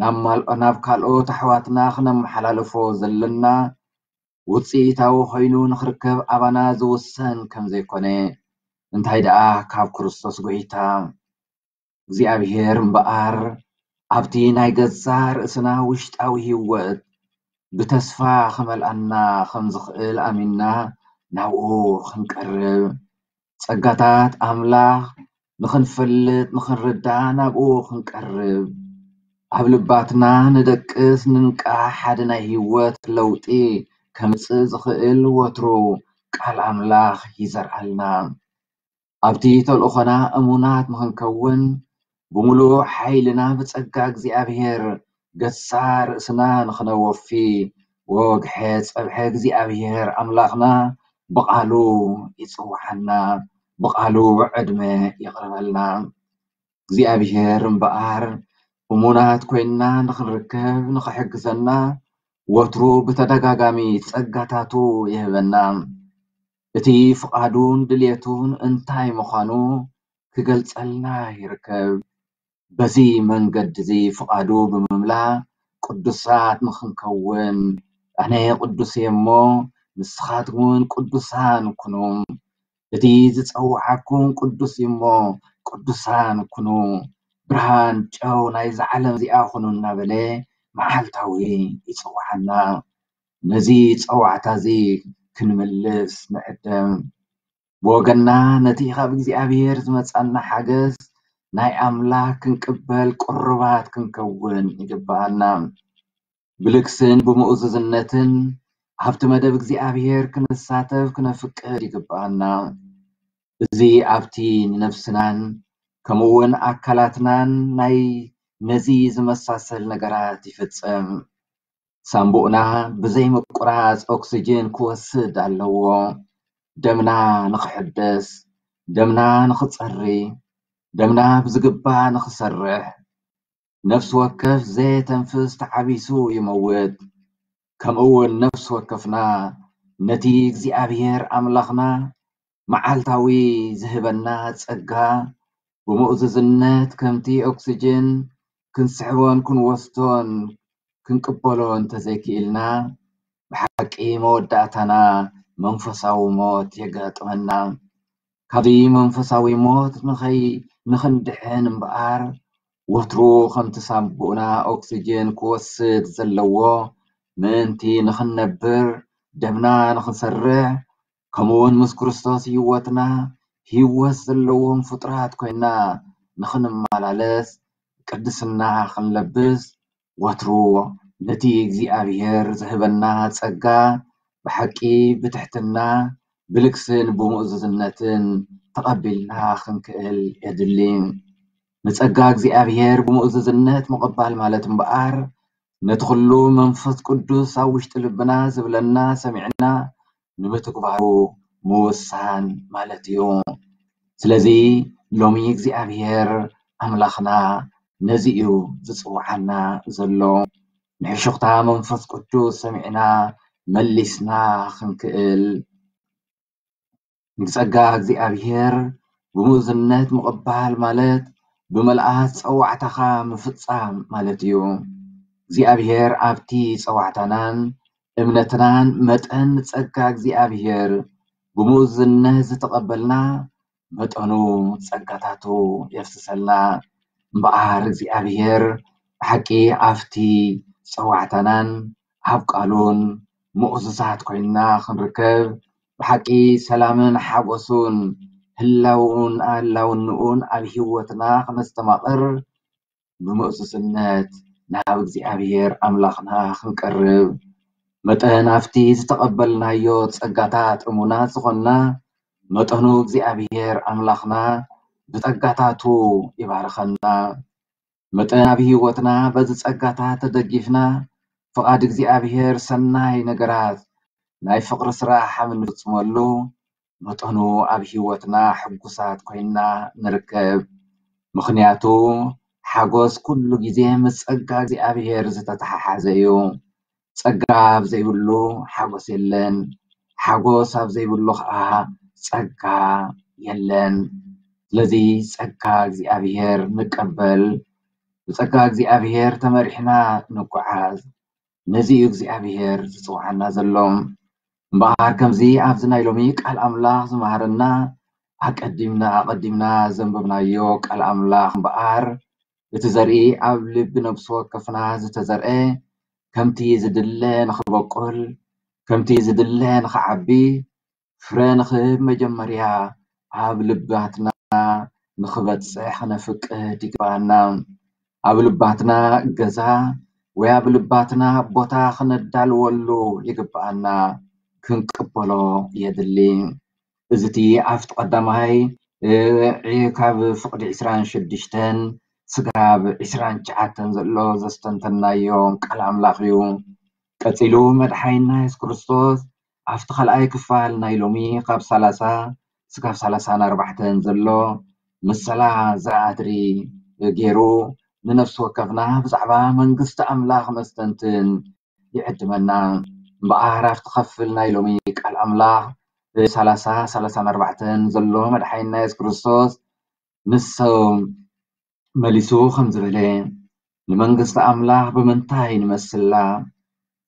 ናብ ማል-፣ ናብ ካልኦት ኣሕዋትና ክነመሓላልፎ ዘለና ውጽኢታዊ ኮይኑ ንኽርከብ ኣባና ዝውሰን ከም ዘይኮነ እንታይ ደኣ ካብ ክርስቶስ ጎይታ እግዚኣብሔር እምበኣር ኣብቲ ናይ ገዛ ርእስና ውሽጣዊ ህይወት ብተስፋ ክመልኣና ከም ዝኽእል ኣሚንና ናብኡ ክንቀርብ፣ ጸጋታት ኣምላኽ ንኽንፈልጥ፣ ንኽንርዳእ ናብኡ ክንቀርብ፣ ኣብ ልባትና ንደቅስ፣ ንንቃሕ፣ ሓደ ናይ ህይወት ለውጢ ከምጽእ ዝኽእል ወትሩ ቃል ኣምላኽ ይዘርኣልና። ኣብቲ ተልእኾና እሙናት ንኽንከውን፣ ብምሉእ ሓይልና ብጸጋ እግዚኣብሔር ገሳ ርእስና ንኽነወፊ፣ ወግሐ ጸብሐ እግዚኣብሔር ኣምላኽና ብቓሉ ይጽውዓና፣ ብቓሉ ዕድመ የቕርበልና። እግዚኣብሔር እምበኣር እሙናት ኮይንና ንኽንርከብ ንኽሕግዘና ወትሩ ብተደጋጋሚ ጸጋታቱ ይህበና። እቲ ፍቓዱን ድልየቱን እንታይ ምዃኑ ክገልጸልና ይርከብ። በዚ መንገዲ እዚ ፍቓዱ ብምምላእ ቅዱሳት ንኽንከውን፣ ኣነ ቅዱስ እየ እሞ ንስኻትኩም እውን ቅዱሳን ኩኑ። እቲ ዝጸውዓኩም ቅዱስ እዩ እሞ ቅዱሳን ኩኑ፣ ብርሃን ጨው ናይዛ ዓለም እዚኣ ኩኑ እናበለ መዓልታዊ ይጽውዓና። ነዚ ጸዋዕታ እዚ ክንምልስ ንዕደም። ብወገንና ነቲ ካብ እግዚኣብሔር ዝመጻና ሓገዝ ናይ ኣምላኽ ክንቅበል ቅሩባት ክንከውን ይግብኣና። ብልግስን ብምእዙዝነትን ኣብቲ መደብ እግዚኣብሔር ክንሳተፍ ክነፍቅድ ይግብኣና። እዚ ኣብቲ ንነፍስናን ከምኡ እውን ኣካላትናን ናይ ነዚ ዝመሳሰል ነገራት ይፍጸም። ሳምቡእና ብዘይ ምቁራጽ ኦክስጅን ክወስድ ኣለዎ። ደምና ንኽሕደስ፣ ደምና ንኽጸሪ፣ ደምና ብዝግባእ ንኽሰርሕ፣ ነፍሲ ወከፍ ዘየተንፍስ ተዓቢሱ ይመውት። ከምኡ እውን ነፍሲ ወከፍና ነቲ እግዚኣብሔር ኣምላኽና መዓልታዊ ዝህበና ጸጋ ብምእዙዝነት ከምቲ ኦክስጅን ክንስሕቦን ክንወስዶን ክንቅበሎ እንተዘይክኢልና፣ ብሓቂ መወዳእታና መንፈሳዊ ሞት የጋጥመና። ካብዚ መንፈሳዊ ሞት ንኸይ-፣ ንኽንድሕን እምበኣር፣ ወትሩ ከምቲ ሳምቡእና ኦክስጅን ክወስድ ዘለዎ ምእንቲ ንኽንነብር፣ ደምና ንኽንሰርሕ፣ ከምኡ እውን ምስ ክርስቶስ ህይወትና ህይወት ዘለዎም ፍጡራት ኮይና ንኽንመላለስ፣ ቅድስና ክንለብስ፣ ወትሩ ነቲ እግዚኣብሔር ዝህበና ጸጋ ብሓቂ ብትሕትና፣ ብልግስን ብምእዙዝነትን ተቐቢልና ክንክእል የድሊ። ንጸጋ እግዚኣብሔር ብምእዙዝነት ምቕባል ማለት እምበኣር፣ ነቲ ኩሉ መንፈስ ቅዱስ ኣብ ውሽጢ ልብና ዝብለና ሰሚዕና ንምትግባሩ ምውሳን ማለት እዩ። ስለዚ ሎሚ እግዚኣብሔር ኣምላኽና ነዚ እዩ ዝጽውዓና ዘሎ። ንሕሹኽታ መንፈስ ቅዱስ ሰሚዕና መሊስና ክንክእል፣ ንጸጋ እግዚኣብሔር ብምእዙዝነት ምቕባል ማለት ብምልኣት ጸዋዕታኻ ምፍጻም ማለት እዩ። እግዚኣብሔር ኣብቲ ጸዋዕታናን እምነትናን መጠን ንጸጋ እግዚኣብሔር ብምእዙዝነት ዝተቐበልና መጠኑ ጸጋታቱ የፍስሰልና። እምበኣር እግዚኣብሔር ብሓቂ ኣብቲ ጸዋዕታናን ኣብ ቃሉን ምእዙዛት ኮይንና ክንርከብ፣ ብሓቂ ሰላምን ሓጎሱን ህላውን ኣላውንኡን ኣብ ህይወትና ክነስተማቕር፣ ብምእዙዝነት ናብ እግዚኣብሔር ኣምላኽና ክንቀርብ፣ መጠን ኣብቲ ዝተቐበልናዮ ጸጋታት እሙናት ዝኾንና፣ መጠኑ እግዚኣብሔር ኣምላኽና ብጸጋታቱ ይባርኸና። መጠን ኣብ ህይወትና በዚ ጸጋታት ተደጊፍና፣ ፍቓድ እግዚኣብሔር ሰናይ ነገራት ናይ ፍቕሪ ስራሕ ኣብ እንፍጽመሉ፣ መጠኑ ኣብ ህይወትና ሕጉሳት ኮይና ንርከብ። ምኽንያቱ ሓጎስ ኩሉ ግዜ ምስ ጸጋ እግዚኣብሔር ዝተተሓሓዘ እዩ። ጸጋ ኣብ ዘይብሉ ሓጎስ የለን፣ ሓጎስ ኣብ ዘይብሉ ኸኣ ጸጋ የለን። ስለዚ ጸጋ እግዚኣብሔር ንቀበል፣ ብጸጋ እግዚኣብሔር ተመሪሕና ንጓዓዝ። ነዚ እዩ እግዚኣብሔር ዝጽውዓና ዘሎ። እምበኣር ከምዚ ኣብዚ ናይ ሎሚ ቃል ኣምላኽ ዝመሃረና ኣቀዲምና ኣቐዲምና ዘንበብናዮ ቃል ኣምላኽ እምበኣር እቲ ዘርኢ ኣብ ልቢ ነብሲ ወከፍና ዝተዘርአ ከምቲ ዝድለ ንኽበቁል ከምቲ ዝድለ ንኽዓቢ ፍረ ንኽህብ መጀመርያ ኣብ ልባትና ንኽበጽሕ ክነፍቅድ ይግባኣና። ኣብ ልባትና ገዛ ወይ ኣብ ልባትና ቦታ ክነዳልወሉ ይግባኣና፣ ክንቅበሎ የድሊ። እዚ እቲ ኣብቲ ቀዳማይ ካብ ፍቕዲ ዕስራን ሽዱሽተን ስጋብ ዕስራን ትሽዓተን ዘሎ ዘስተንተናዮ ቃል ኣምላኽ እዩ። ቀጺሉ መድሓይና የሱስ ክርስቶስ ኣብቲ ካልኣይ ክፋል ናይ ሎሚ ካብ ሰላሳ ስጋብ ሰላሳን ኣርባዕተን ዘሎ ምሰላ ዘርኢ ኣድሪ ገይሩ ንነፍሲ ወከፍና ብዛዕባ መንግስቲ ኣምላኽ መስተንትን ይዕድመና። እምበኣር ኣብቲ ክፍል ናይ ሎሚ ቃል ኣምላኽ ሰላሳ ሰላሳን ኣርባዕተን ዘሎ መድሓይና የሱስ ክርስቶስ ንሶም መሊሱ ከም ዝበለ፣ ንመንግስቲ ኣምላኽ ብምንታይ ንመስላ?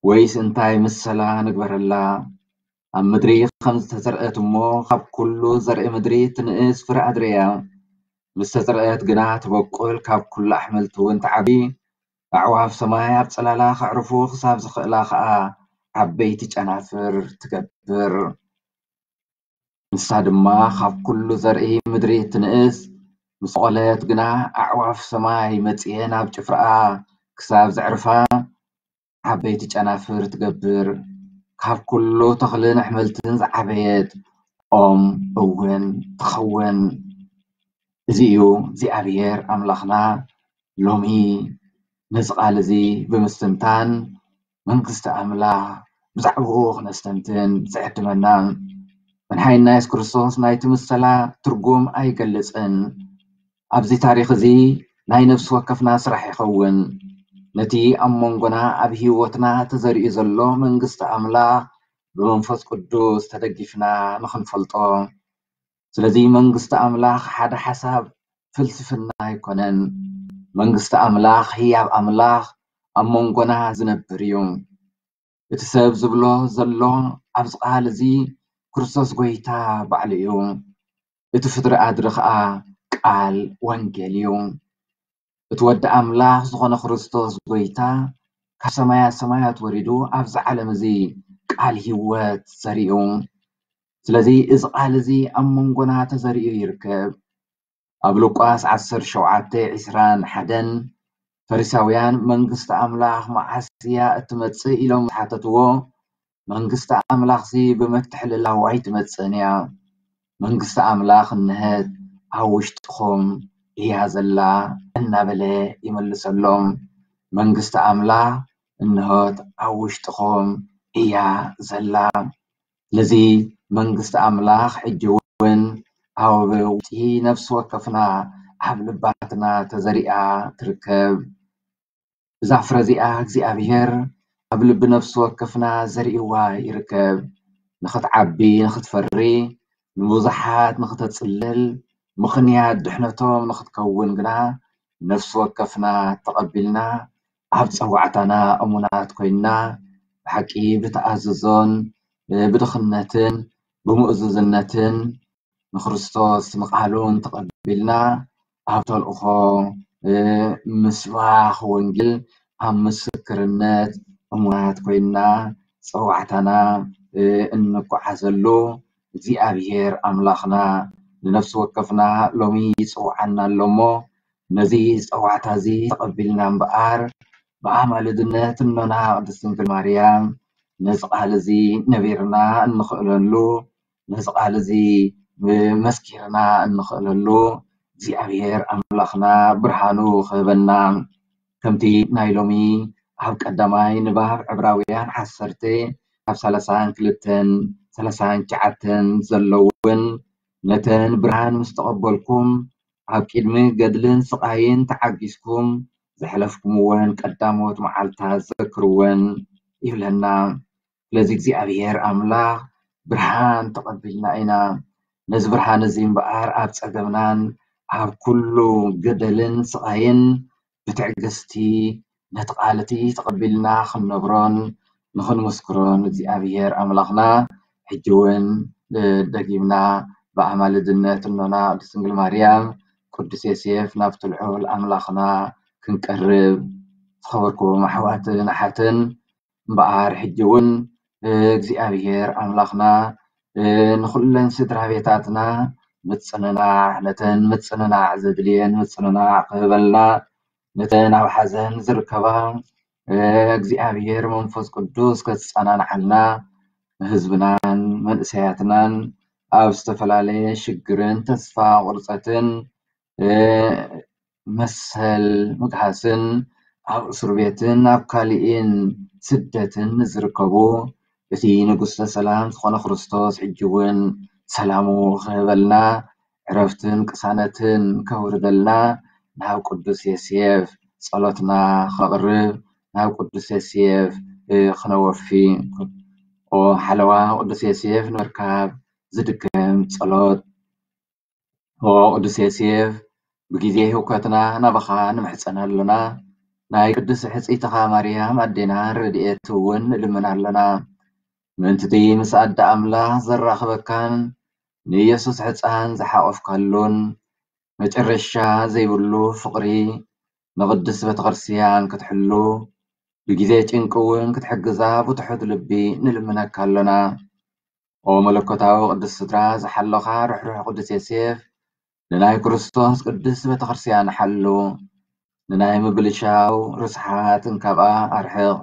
ወይስ እንታይ ምሰላ ንግበረላ? ኣብ ምድሪ ከም ዝተዘርአት እሞ ካብ ኩሉ ዘርኢ ምድሪ ትንእስ ፍረ ኣድርያ። ምስ ተዘርአት ግና ትበቁል፣ ካብ ኩሉ ኣሕምልቲ እውን ትዓቢ። ኣዕዋፍ ሰማይ ኣብ ጽላላ ከዕርፉ ክሳብ ዝኽእላ ኸኣ ዓበይቲ ጨናፍር ትገብር። ንሳ ድማ ካብ ኩሉ ዘርኢ ምድሪ እትንእስ፣ ምስ በቖለት ግና ኣዕዋፍ ሰማይ መጺኤን ኣብ ጭፍራኣ ክሳብ ዘዕርፋ ዓበይቲ ጨናፍር ትገብር። ካብ ኩሉ ተኽልን ኣሕምልትን ዝዓበየት ኦም እውን ትኸውን። እዚ እዩ እግዚኣብሔር ኣምላኽና ሎሚ ነዚ ቃል እዚ ብምስትንታን መንግስቲ ኣምላኽ ብዛዕባኡ ክነስተንትን ዝዕድመና። መድሓኒና የሱስ ክርስቶስ ናይቲ ምሰላ ትርጉም ኣይገልጽን። ኣብዚ ታሪኽ እዚ ናይ ነፍሲ ወከፍና ስራሕ ይኸውን። ነቲ ኣብ መንጎና ኣብ ህይወትና ተዘሪኡ ዘሎ መንግስቲ ኣምላኽ ብመንፈስ ቅዱስ ተደጊፍና ንኽንፈልጦ። ስለዚ መንግስቲ ኣምላኽ ሓደ ሓሳብ ፍልስፍና ኣይኮነን። መንግስቲ ኣምላኽ ህያብ ኣምላኽ ኣብ መንጎና ዝነብር እዩ። እቲ ሰብ ዝብሎ ዘሎ ኣብዚ ቃል እዚ ክርስቶስ ጎይታ ባዕሉ እዩ። እቲ ፍጥሪ ኣድሪ ኸኣ ቃል ወንጌል እዩ። እቲ ወዲ ኣምላኽ ዝኾነ ክርስቶስ ጎይታ ካብ ሰማያት ሰማያት ወሪዱ ኣብዚ ዓለም እዚ ቃል ህይወት ዘሪኡ። ስለዚ እዚ ቃል እዚ ኣብ መንጎና ተዘሪኡ ይርከብ። ኣብ ሉቃስ ዓሰርተ ሸውዓተ ዕስራን ሓደን ፈሪሳውያን መንግስቲ ኣምላኽ መዓስ እያ እትመጽእ ኢሎም ዝሓተትዎ፣ መንግስቲ ኣምላኽሲ ብምትሕልላው ኣይትመጽእን እያ። መንግስቲ ኣምላኽ እንሀት ኣብ ውሽጥኹም እያ ዘላ እናበለ ይመልሰሎም። መንግስቲ ኣምላኽ እንሆት ኣብ ውሽጥኹም እያ ዘላ። ስለዚ መንግስቲ ኣምላኽ ሕጂ እውን ኣብ ውሽጢ ነፍሲ ወከፍና ኣብ ልባትና ተዘሪኣ ትርከብ። እዛ ፍረ እዚኣ እግዚኣብሔር ኣብ ልቢ ነፍሲ ወከፍና ዘሪእዋ ይርከብ። ንኽትዓቢ፣ ንኽትፈሪ፣ ንብዙሓት ንኽተጽልል፣ ምኽንያት ድሕነቶም ንኽትከውን ግና ነፍሲ ወከፍና ተቐቢልና ኣብ ጸዋዕታና እሙናት ኮይንና ብሓቂ ብተኣዝዞን ብድኽነትን ብምእዙዝነትን ንክርስቶስ ንቃሉን ተቐቢልና ኣብ ተልእኾ ምስባኽ ወንጌል ኣብ ምስክርነት እሙናት ኮይንና ጸዋዕታና እንጓዓዘሉ እግዚኣብሔር ኣምላኽና ንነፍሲ ወከፍና ሎሚ ይጽውዓና ኣሎ እሞ ነዚ ጸዋዕታ እዚ ተቐቢልና እምበኣር ብኣማልድነት እኖና ቅድስት ድንግል ማርያም ነዚ ቃል እዚ ነቢርና እንኽእለሉ፣ ነዚ ቃል እዚ መስኪርና እንኽእለሉ እግዚኣብሔር ኣምላኽና ብርሃኑ ክህበና። ከምቲ ናይ ሎሚ ኣብ ቀዳማይ ንባብ ዕብራውያን ዓሰርተ ካብ ሰላሳን ክልተን ሰላሳን ትሽዓተን ዘለውን ነተን ብርሃን ምስ ተቐበልኩም ኣብ ቅድሚ ገድልን ስቓይን ተዓጊስኩም ዘሕለፍኩምወን ቀዳሞት መዓልታት ዘክርወን ይብለና። ስለዚ እግዚኣብሔር ኣምላኽ ብርሃን ተቐቢልና ኢና። ነዚ ብርሃን እዚ እምበኣር ኣብ ጸገምናን ኣብ ኩሉ ገደልን ስቓይን ብትዕግስቲ ነቲ ቃል እቲ ተቐቢልና ክንነብሮን ንኽንምስክሮን እግዚኣብሔር ኣምላኽና ሕጂ እውን ደጊምና ብኣማልድነት እኖና ቅድስት ድንግል ማርያም ቅዱስ ዮሴፍ ናብቲ ልዑል ኣምላኽና ክንቀርብ። ዝኸበርኩም ኣሕዋትን ኣሓትን እምበኣር ሕጂ እውን እግዚኣብሔር ኣምላኽና ንኹለን ስድራ ቤታትና ምጽንናዕ ነተን ምጽንናዕ ዘድልየን ምጽንናዕ ክህበልና ነተን ኣብ ሓዘን ዝርከባ እግዚኣብሔር መንፈስ ቅዱስ ከጸናንዓልና ንህዝብናን መንእሰያትናን ኣብ ዝተፈላለየ ሽግርን ተስፋ ቁርፀትን መሰል ምግሃስን ኣብ እስር ቤትን ኣብ ካሊእን ስደትን ዝርከቡ እቲ ንጉስተ ሰላም ዝኾነ ክርስቶስ ሕጂ እውን ሰላሙ ክህበልና ዕረፍትን ቅሳነትን ከውርደልና ናብ ቅዱስ ዮሴፍ ጸሎትና ከቕርብ ናብ ቅዱስ ዮሴፍ ክነወፊ። ኦ ሓለዋ ቅዱስ ዮሴፍ ንምርካብ ዝድከም ጸሎት። ኦ ቅዱስ ዮሴፍ ብግዜ ህውከትና ናባኻ ንምሕጸን ኣሎና። ናይ ቅድስቲ ሕጽይትኻ ማርያም ኣዴና ረድኤት እውን ንልምን ኣሎና። ምእንቲ እቲ ምስ ኣደ ኣምላኽ ዘራኽበካን ንኢየሱስ ሕፃን ዝሓቆፍካሉን መጨረሻ ዘይብሉ ፍቕሪ ንቕድስት ቤተክርስትያን ክትሕሉ ብግዜ ጭንቂ እውን ክትሕግዛ ብትሑት ልቢ ንልምነካ ኣሎና። ኦ መለኮታዊ ቅድስት ስድራ ዝሓለኻ ርሕሩሕ ቅዱስ ዮሴፍ ንናይ ክርስቶስ ቅድስት ቤተክርስትያን ሓሉ። ንናይ ምብልሻው ርስሓት እንካብኣ ኣርሕቕ።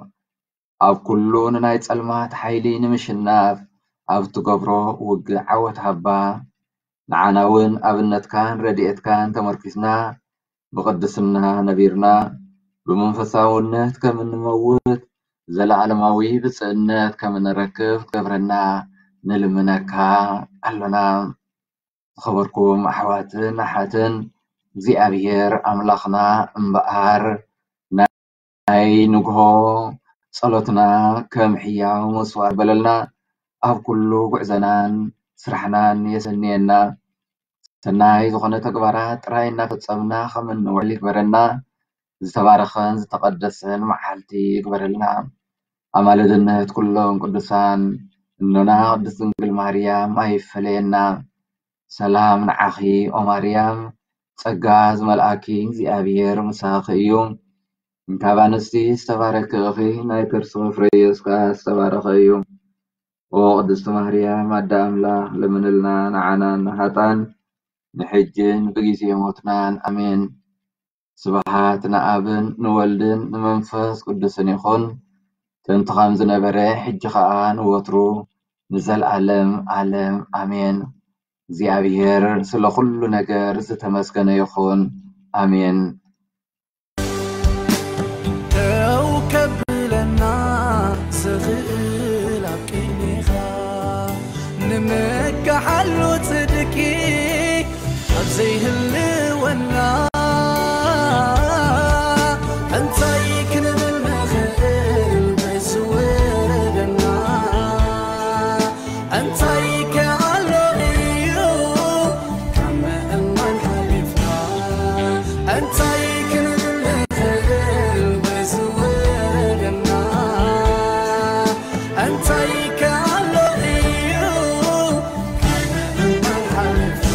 ኣብ ኩሉ ንናይ ጸልማት ሓይሊ ንምሽናፍ ኣብ እትገብሮ ውግእ ዓወት ሃባ። ንዓና እውን ኣብነትካን ረድኤትካን ተመርኪስና ብቕድስና ነቢርና ብመንፈሳውነት ከም እንመውት ዘለዓለማዊ ብፅእነት ከም እንረክብ ክትገብረና ንልምነካ ኣሎና። ዝኸበርኩም ኣሕዋትን ኣሓትን እግዚኣብሔር ኣምላኽና እምበኣር ናይ ንግሆ ጸሎትና ከም ሕያው መስዋዕቲ በለልና ኣብ ኩሉ ጉዕዘናን ስራሕናን የሰንየና። ሰናይ ዝኾነ ተግባራት ጥራይ እናፈጸምና ከም እንውዕል ይግበረና። ዝተባረኸን ዝተቐደሰን መዓልቲ ይግበረልና። ኣማልድነት ኩሎም ቅዱሳን እኖና ቅድስት ድንግል ማርያም ኣይፈለየና። ሰላም ንዓኺ ኦ ማርያም፣ ጸጋ ዝመልኣኪ እግዚኣብሔር ምሳኺ እዩ። እንካብ ኣንስቲ ዝተባረኪ ኢኺ፣ ናይ ከርስኺ ፍረ ኢየሱስ ከኣ ዝተባረኸ እዩ። ኦ ቅድስቲ ማርያም ኣደ ኣምላኽ፣ ለምንልና ንዓና ንሃጣን ንሕጅን ብግዜ ሞትናን። ኣሜን። ስብሃት ንኣብን ንወልድን ንመንፈስ ቅዱስን ይኹን፣ ጥንቲ ከም ዝነበረ ሕጂ ኸኣ ንወትሩ ንዘልኣለም ኣለም ኣሜን። እግዚኣብሔር ስለ ኩሉ ነገር ዝተመስገነ ይኹን። ኣሜን። ደው ከብለና ዝኽእል ኣብ ቅድሜኻ ንምካሓሉ ጽድቂ ኣብ ዘይህልወና እንታይ ክንብል ንኽእል በዝወረደና እንታይ ከኣሎ እዩ ካብ ምእማን ሓሊፍና እንታይ ክንብል ንኽእል በዝወረደና እንታይ ከኣሎ እዩ ካብ ምእማን ሓሊፍና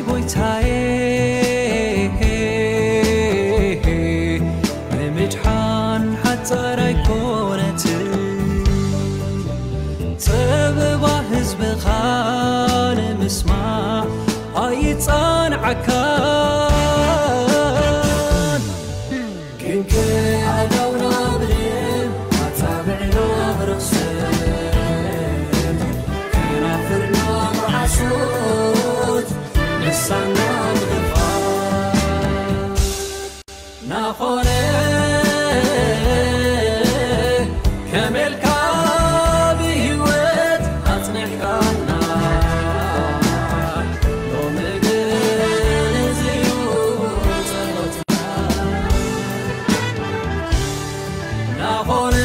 ጎይታዬ፣ ንምድሓን ሓጻር ኣይኮነትን። ጸበባ ህዝብኻ ንምስማዕ ኣይጸንዓካን። ግን ከኣዳውና ብልም ኣጻብዕና ብርኽስን ከናፍርና ብሓሶት ልሳና ብኽፋት ናኾነ ከመልካ ብህይወት ኣጽኒሕካና ሎሚ ግን እዚዩ ጸሎትና ናኾነ